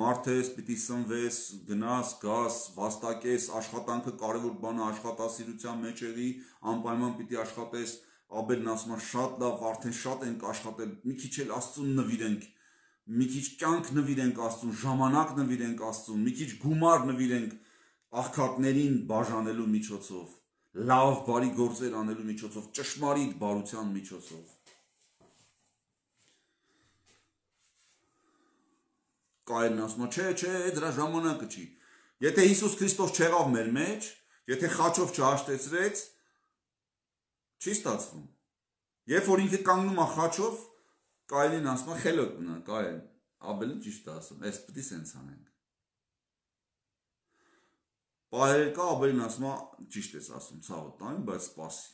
մարդը ես պիտի սնվես, գնաս, գաս, վաստակես, աշխատանքը կարևոր բան է, աշխատասիրության մեջ եղի, անպայման պիտի աշխատես։ Աբելն ասում է շատ լավ, արդեն շատ ենք աշխատել, մի քիչ էլ Աստծուն նվիրենք, մի քիչ կյանք նվիրենք Աստծուն, ժամանակ նվիրենք Աստծուն, մի քիչ գումար նվիրենք աղքատներին բաժանելու միջոցով, լավ բարի գործեր անելու միջոցով, ճշմարիտ բարության միջոցով։ Կայենն ասում է, չէ, չէ, դրա ժամանակը չի։ Եթե Հիսուս Քրիստոս չեղավ մեր մեջ, եթե խաչով չհաշտեցրեց, չի ստացվում։ Երբ որ ինքը կանգնում է խաչով, Կայենին ասում է, խելոք մնա, Կայեն, Աբելը ճիշտ է ասում, այս պիտի սենց անենք։ Պահեր կա, Աբելին ասում է, ճիշտ ես ասում, ցավը տանեմ, բայց սպասի։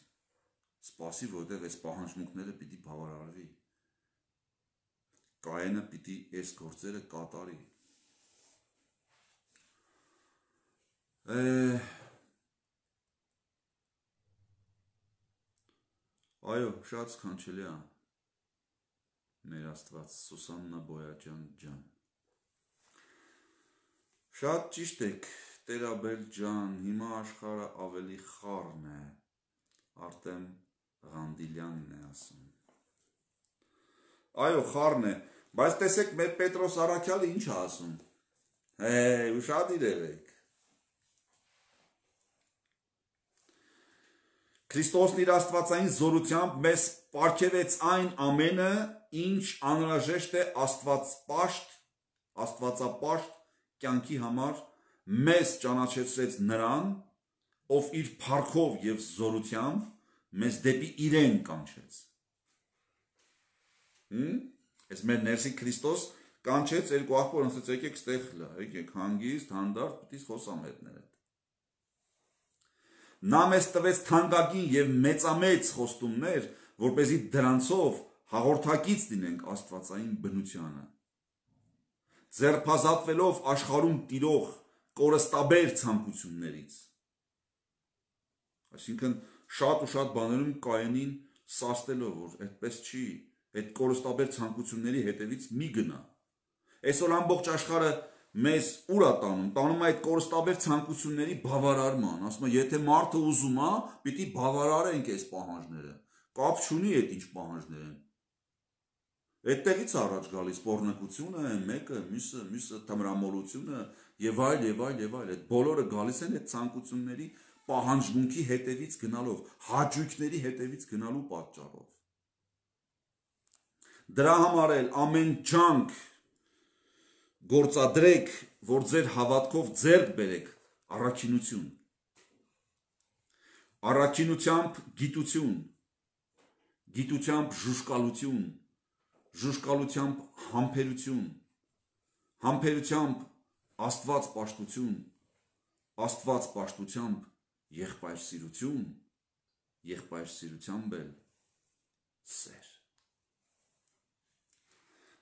Սպասի, որտեղ այս պահանջմունքները պիտի բավարարվի։ Կայենը պիտի այս գործերը կատարի։ Այո, շատ սքանչելի է մեր Աստված, Սուսաննա Բոյաջյան ջան։ Շատ ճիշտ եք, Տեր Աբել ջան, հիմա աշխարհը ավելի խառն է, Արտեմ Ղանդիլյանն է ասում։ Այո, խառն է, բայց տեսեք մեր Պետրոս Առաքյալը ինչ է ասում։ Հե, ուշադիր եղեք։ Քրիստոսն իր աստվածային զորությամբ մեզ պարգևեց այն ամենը, ինչ անհրաժեշտ է աստվածապաշտ, աստվածապաշտ կյանքի համար, մեզ ճանաչեցրեց նրան, ով իր փառքով եւ զորությամբ մեզ դեպի իրեն կանչեց։ Հմ? Այս մեր ներսի Քրիստոս կանչեց երկու աղբոր, ասեց եկեք ստեղ լա, եկեք հանգիստ, հանդարտ, պիտի խոսամ հետները։ Նա մեզ տվեց թանկագին եւ մեծամեծ խոստումներ, որպեսզի դրանցով հաղորդակից լինենք աստվածային բնությանը։ ձերբազատվելով աշխարհում տիրող կորստաբեր ցանկություններից։ Այսինքն շատ ու շատ բաներում Կայենին սաստելով, որ այդպես չի, այդ կորստաբեր ցանկությունների հետևից մի գնա։ Այսօր ամբողջ աշխարհը մեզ ուր է տանում, տանում է այդ կորստաբեր ցանկությունների բավարարման, ասում է, եթե մարդը ուզում է, պիտի բավարարենք այս պահանջները, կապ չունի այդ ինչ պահանջներ են։ Այդտեղից առաջ գալիս պոռնկությունը, մեկը, մյուսը, մյուսը թմրամոլությունը եւ այլ եւ այլ եւ այլ, այդ բոլորը գալիս են այդ ցանկությունների պահանջմունքի հետևից գնալով, հաճույքների հետևից գնալու պատճառով։ Դրա համար էլ ամեն ջանք գործադրեք, որ ձեր հավատքով ձեռք բերեք առաքինություն, առաքինությամբ գիտություն, գիտությամբ ժուժկալություն, ժուժկալությամբ համբերություն, համբերությամբ Աստված պաշտություն, Աստված պաշտությամբ եղբայրսիրություն, եղբայրսիրությամբ էլ սեր։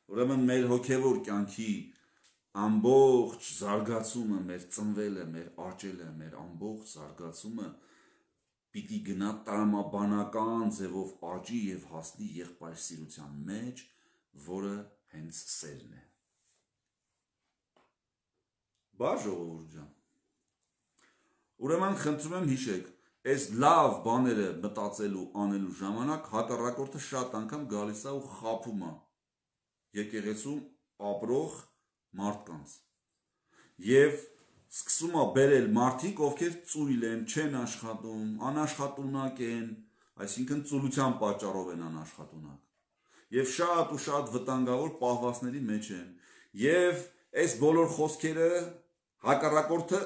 Ուրեմն մեր հոգևոր կյանքի ամբողջ զարգացումը, մեր ծնվելը, մեր աճելը, մեր ամբողջ զարգացումը պիտի գնա տրամաբանական ձևով աճի եւ հասնի եղբայրսիրության մեջ, որը հենց սերն է։ Բա ժողովուրդ ջան։ Ուրեմն խնդրում եմ հիշեք, այս լավ բաները մտածելու, անելու ժամանակ հակառակորդը շատ անգամ գալիս է ու խաբում է եկեղեցում ապրող մարդկանց։ Եվ սկսում է բերել մարդիկ, ովքեր ծույլ են, չեն աշխատում, անաշխատունակ են, այսինքն ծուլության պատճառով են անաշխատունակ։ Եվ շատ ու շատ վտանգավոր պահվածների մեջ են։ Եվ այս բոլոր խոսքերը հակառակորդը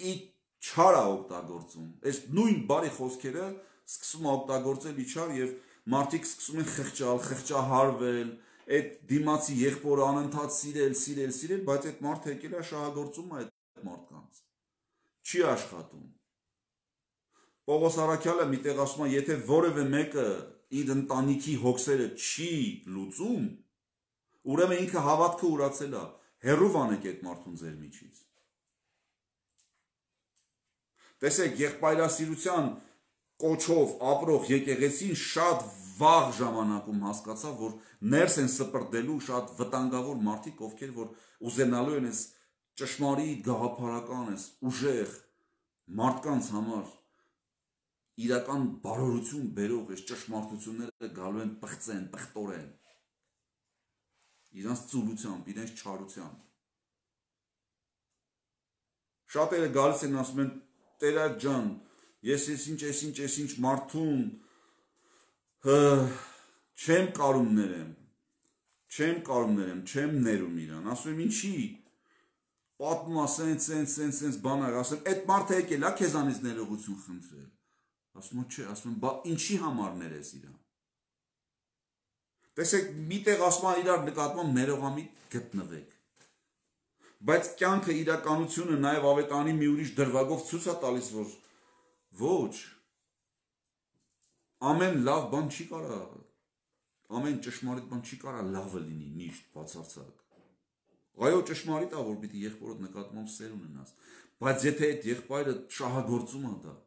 ի չար է օգտագործում։ Այս նույն բարի խոսքերը սկսում է օգտագործել իչար եւ մարդիկ սկսում են խղճալ, խղճահարվել, այդ դիմացի եղբորը անընդհատ սիրել, սիրել, սիրել, բայց այդ մարդը եկել է շահագործում այդ մարդկանց։ Չի աշխատում։ Պողոս առաքյալը միտեղ ասում է, եթե որևէ մեկը իր ընտանիքի հոգսերը չի լուծում, ուրեմն ինքը հավատքը ուրացել է, հեռու վանեք այդ մարդուն ձեր միջից։ Տեսեք, եղբայրասիրության կոչով ապրող եկեղեցին շատ վաղ ժամանակում հասկացավ, որ ներս են սպրդելու շատ վտանգավոր մարդիկ, ովքեր որ ուզենալու են այս ճշմարիտ գաղափարական, այս ուժեղ մարդկանց համար իրական բարօրություն բերող այս ճշմարտությունները գալու են պղծեն, պղտորեն իրանց ծուլությամբ, իրենց չարությամբ։ Շատերը գալիս են ասում են, Տերած ջան, ես ես ինչ, ես ինչ, ես ինչ մարդուն չեմ կարում ներեմ, չեմ կարում ներեմ, չեմ ներում իրան, ասում եմ ինչի, պատմում ասեն, սեն, սեն, սեն, բանար, ասում եմ, այդ մարդը եկել է քեզանից ներողություն խնդրել, ասում եմ, չէ, ասում եմ, բա ինչի համար ներես իրան։ Տեսեք, միտեղ ասում եմ, իրար նկատմամբ ներողամիտ գտնվեք։ Բայց կյանքը իրականությունը նաև ավետարանի մի ուրիշ դրվագով ցույց է տալիս, որ ոչ, ամեն լավ բան չի կարա, ամեն ճշմարիտ բան չի կարա լավը լինի, միշտ բացարձակ։ Այո, ճշմարիտ է, որ պիտի եղբորդ նկատմամբ սեր ունենաս, բայց եթե այդ եղբայրը շահագործում է դա,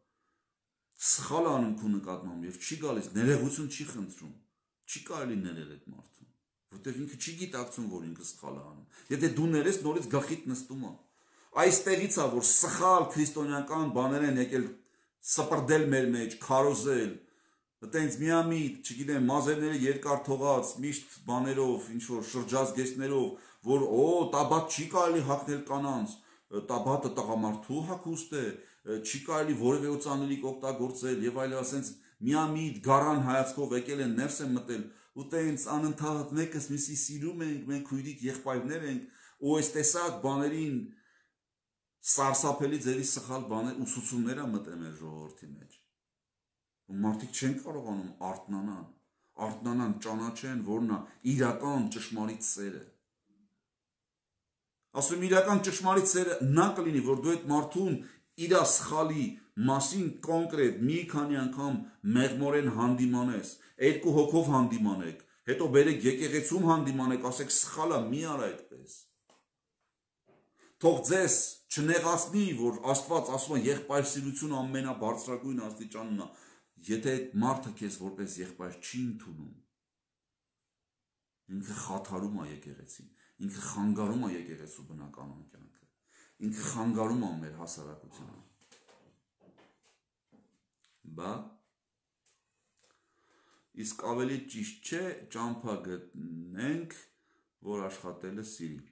սխալ անում քո նկատմամբ եւ չի գալիս, ներողություն չի խնդրում, չի կարելի ներել այդ մարդուն։ Որտեղ ինքը չի գիտակցում, որ ինքը սխալ է անում։ Եթե դու ներես, նորից գլխիդ նստում է։ Այստեղից է, որ սխալ քրիստոնեական բաներ են եկել սպրդել մեր մեջ, քարոզել, այտենց միամիտ, չգիտեմ, մազերները երկար թողած, միշտ բաներով, ինչ որ շրջազգեստներով, որ օ, տաբատ չի կարելի հագնել կանանց, տաբատը տղամարդու հագուստ է, չի կարելի որևէ օծանելիք օգտագործել եւ այլ, ասենց միամիտ գարան հայացքով եկել են, ներս են մտել ու տենց անընդհատ մեկս մյուսի սիրում ենք, մենք քույրիկ եղբայրներ ենք, ու այս տեսակ բաներին սարսափելի ձևի սխալ բաներ ուսուցումներ է մտել մեր ժողովրդի մեջ։ Ու մարդիկ չեն կարողանում արթնանալ, արթնանան, ճանաչեն, որն է իրական ճշմարիտ սերը։ Ասում իրական ճշմարիտ սերը նա կլինի, որ դու այդ մարդուն իր սխալի մասին կոնկրետ մի քանի անգամ մեղմորեն հանդիմանես, երկու հոգով հանդիմանեք, հետո բերեք եկեղեցում հանդիմանեք, ասեք սխալա մի արա այդպես։ թող ձեզ չնեղացնի, որ Աստված ասում է եղբայրսիրությունը ամենաբարձրագույն աստիճանն է, եթե այդ մարդը քեզ որպես եղբայր չի ընդունում, ինքը խաթարում է եկեղեցին, ինքը խանգարում է եկեղեցու բնականon կյանքը, ինքը խանգարում է մեր հասարակությունը։ Բա իսկ ավելի ճիշտ չէ ճամփա գտնենք, որ աշխատելը սիրի։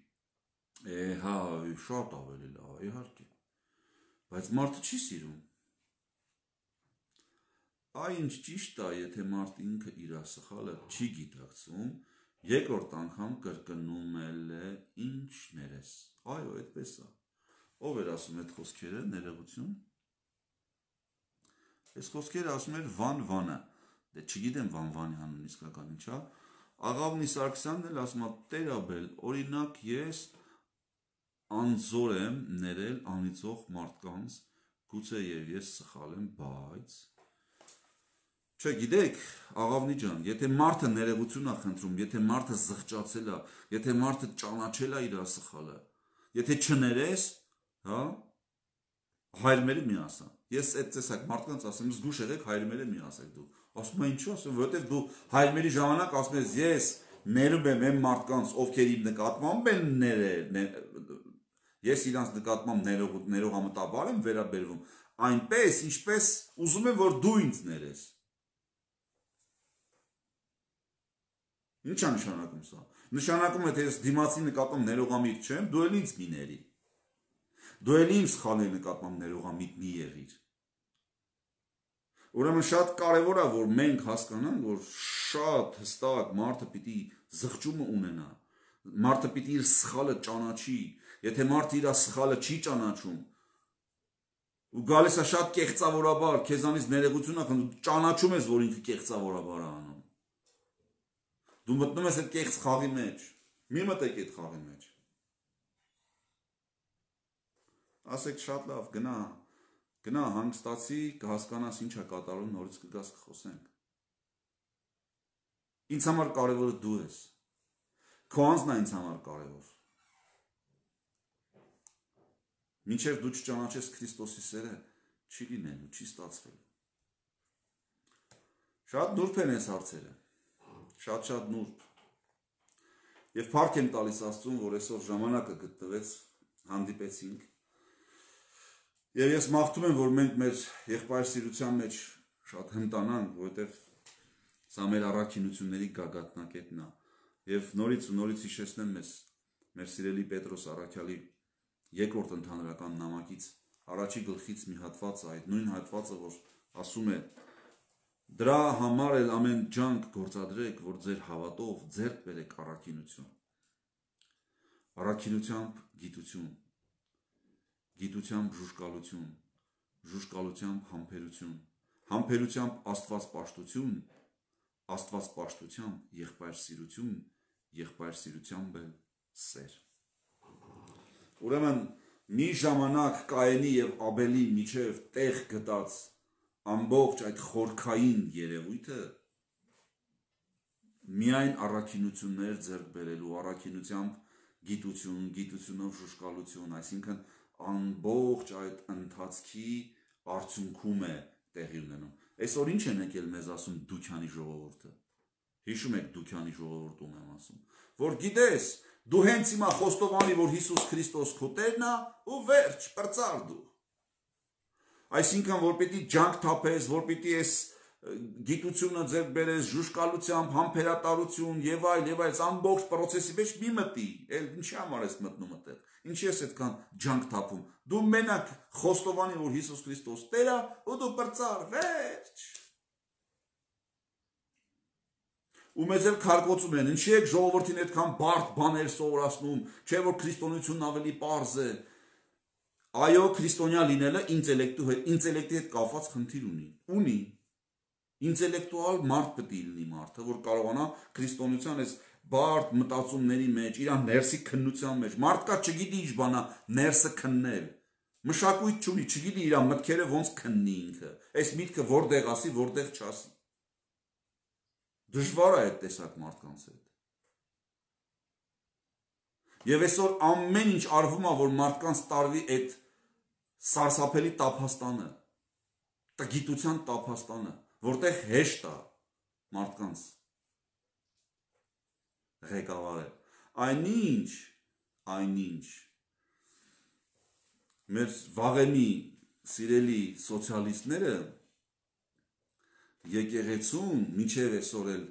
Է, հա, շատ ավելի լավ, իհարկե։ Բայց մարդը չի սիրում։ Այ ինչ ճիշտ է, եթե մարդ ինքը իր սխալը չի գիտակցում, երկրորդ անգամ կրկնում է ինչ ներես։ Այո, այդպես է։ Ով էր ասում այդ խոսքերը, ներողություն։ Այս խոսքերը ասում էր Վան Վանը։ Դե չգիտեմ Վան Վանի անուն իսկական ինչա։ Աղավնի Սարգսյանն էլ ասում է Տերաբել, օրինակ ես անզոր եմ ներել անիծող մարդկանց, գուցե եւ ես սխալ եմ, բայց Չէ, գիտեք, Աղավնի ջան, եթե մարդը ներողություն է խնդրում, եթե մարդը զղջացել է, եթե մարդը ճանաչել է իր սխալը, եթե չներես, հա, հայրմերը մի ասա։ Ես այդ տեսակ մարդկանց ասեմ, զգուշ եղեք, հայրմերը մի ասեք դու։ Ասում եմ ինչու՞ ասում, որովհետև դու հայրմերի ժամանակ ասում ես, ես ներում եմ այն մարդկանց, ովքեր իմ նկատմամբ են ներել, ես իրանց նկատմամբ ներողամտաբար եմ վերաբերվում, այնպես, ինչպես ուզում եմ, որ դու ինձ ներես։ Ինչ է նշանակում սա։ Նշանակում է, թե ես դիմացի նկատմամբ ներողամիտ չեմ, դու էլ ինձ մի ների։ Դու էլ իմ սխալների նկատմամբ ներողամիտ մի եղիր։ Ուրեմն շատ կարևոր է, որ մենք հասկանանք, որ շատ հստակ մարդը պիտի զղջումը ունենա, մարդը պիտի իր սխալը ճանաչի, եթե մարդը իր սխալը չի ճանաչում, ու գալիս է շատ կեղծավորաբար, քեզանից ներողություն է խնդրում, ճանաչում ես, որ ինքը կեղծավորաբար է անում։ Դու մտնում ես այդ կեղծ խաղի մեջ, մի մտեք այդ խաղի մեջ։ Ասեք շատ լավ, գնա, գնա հանգստացի, կհասկանաս ինչ է կատարում, նորից կգաս կխոսենք։ Ինձ համար կարևորը դու ես, քո անձն է ինձ համար կարևոր։ Մինչև դու չճանաչես Քրիստոսի սերը, չի լինելու, չի ստացվելու։ Շատ նուրբ են այս հարցերը, շատ-շատ նուրբ։ Եվ փառք եմ տալիս Աստծուն, որ այսօր ժամանակը գտնվեց, հանդիպեցինք։ Եվ ես մաղթում եմ, որ մենք մեր եղբայրսիրության մեջ շատ հմտանանք, որովհետև սա մեր առաքինությունների գագաթնակետն է։ Եվ նորից ու նորից հիշեցնեմ մեզ մեր սիրելի Պետրոս առաքյալի երկրորդ ընդհանրական նամակից առաջի գլխից մի հատված է, այդ նույն հատվածը, որ ասում է. դրա համար էլ ամեն ջանք գործադրեք, որ ձեր հավատով ձեռք բերեք առաքինություն։ Առաքինությամբ գիտություն, գիտությամբ ժուժկալություն, ժուժկալությամբ համբերություն, համբերությամբ աստվածպաշտություն, աստվածպաշտությամբ եղբայրսիրություն, եղբայրսիրությամբ էլ սեր։ Ուրեմն մի ժամանակ Կայենի եւ Աբելի միջև տեղ գտած ամբողջ այդ խորքային երևույթը միայն առաքինություններ ձեռք բերելու, առաքինությամբ գիտություն, գիտությունով ժուժկալություն, այսինքն ամբողջ այդ ընթացքի արդյունքում է տեղի ունենում։ Այսօր ինչ են եկել մեզ ասում Դուքյանի ժողովուրդը։ Հիշում եք Դուքյանի ժողովուրդում եմ ասում, որ գիտես, դու հենց հիմա խոստովանի, որ Հիսուս Քրիստոս քո Տերն է, ու վերջ, պրծար դու։ Այսինքն, որ պիտի ջանք թափես, որ պիտի ես գիտությունը ձեռք բերես, ժուժկալությամբ, համբերատարություն եւ այլ եւ այլ, ամբողջ process-ի մեջ մի մտի, էլ ինչի համար ես մտնում այդտեղ։ Ինչի ես այդքան ջանք թափում։ Դու մենակ խոստովանի, որ Հիսուս Քրիստոս Տեր է, ու դու պրծար, վերջ։ Ու մեզ էլ քարկոծում են, ինչի եք ժողովրդին այդքան բարդ բաներ սովորացնում, չէ՞ որ քրիստոնեությունն ավելի պարզ է։ Այո, քրիստոնյա լինելը ինտելեկտու հետ, ինտելեկտի հետ կապված խնդիր ունի։ Ունի։ Ինտելեկտուալ մարդ պետք է լինի մարդը, որ կարողանա քրիստոնեության այս բարդ մտածումների մեջ, իր ներսի քննության մեջ։ Մարդկա չգիտի ինչ բանա ներսը քննել։ Մշակույթ չունի, չգիտի իր մտքերը ոնց քննի ինքը։ Այս միտքը որտեղ ասի, որտեղ չասի։ Դժվար է այդ տեսակ մարդկանց հետ։ Եվ այսօր ամեն ինչ արվում է, որ մարդկանց տարվի այդ սարսափելի տափաստանը, տգիտության տափաստանը, որտեղ հեշտ է մարդկանց ղեկավարել։ Այնինչ, այնինչ մեր վաղեմի սիրելի սոցիալիստները եկեղեցուն մինչև այսօր էլ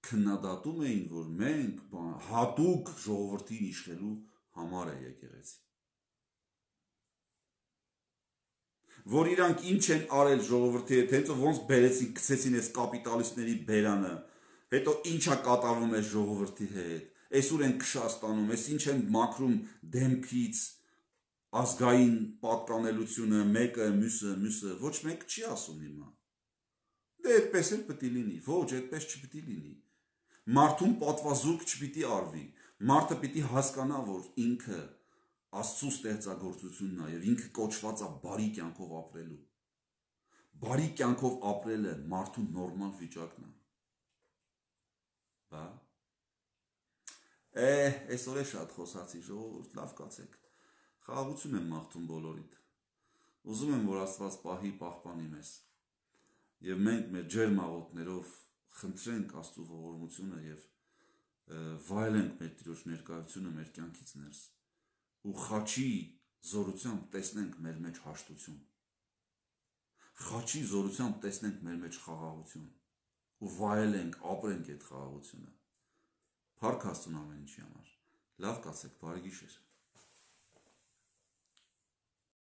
քննադատում էին, որ մենք հատուկ ժողովրդին իշխելու համար է եկեղեցի։ Որ իրանք ինչ են արել ժողովրդի հետ, հենց ոնց բերեցին, գցեցին այս կապիտալիստների բերանը, հետո ինչա կատարվում այս ժողովրդի հետ, այսուր են քշա ստանում, այս ինչ են մաքրում դեմքից ազգային պատկանելությունը, մեկը, մյուսը, մյուսը, ոչ մեկ չի ասում հիմա։ Դե այդպես էլ պետք է լինի, ոչ, այդպես չպետք է լինի։ Մարդուն պատվազուրկ չպիտի արվի, մարդը պիտի հասկանա, որ ինքը Աստծո ստեղծագործությունն է եւ ինքը կոչված է բարի կյանքով ապրելու։ Բարի կյանքով ապրելը մարդու նորմալ վիճակն է։ Բա։ Է, այսօր է շատ խոսացի, ժողովուրդ, լավ կացեք։ Խաղաղություն եմ մաղթում բոլորիդ։ Ուզում եմ, որ Աստված պահի, պահպանի մեզ։ Եվ մենք մեր ջերմ աղոթներով խնդրենք Աստծո ողորմությունը եւ վայելենք մեր Տիրոջ ներկայությունը մեր կյանքից ներս։ Ու խաչի զորությամբ տեսնենք մեր մեջ հաշտություն, խաչի զորությամբ տեսնենք մեր մեջ խաղաղություն ու վայելենք, ապրենք այդ խաղաղությունը։ Փառք Աստծուն ամեն ինչի համար։ Լավ կացեք, բարի գիշեր։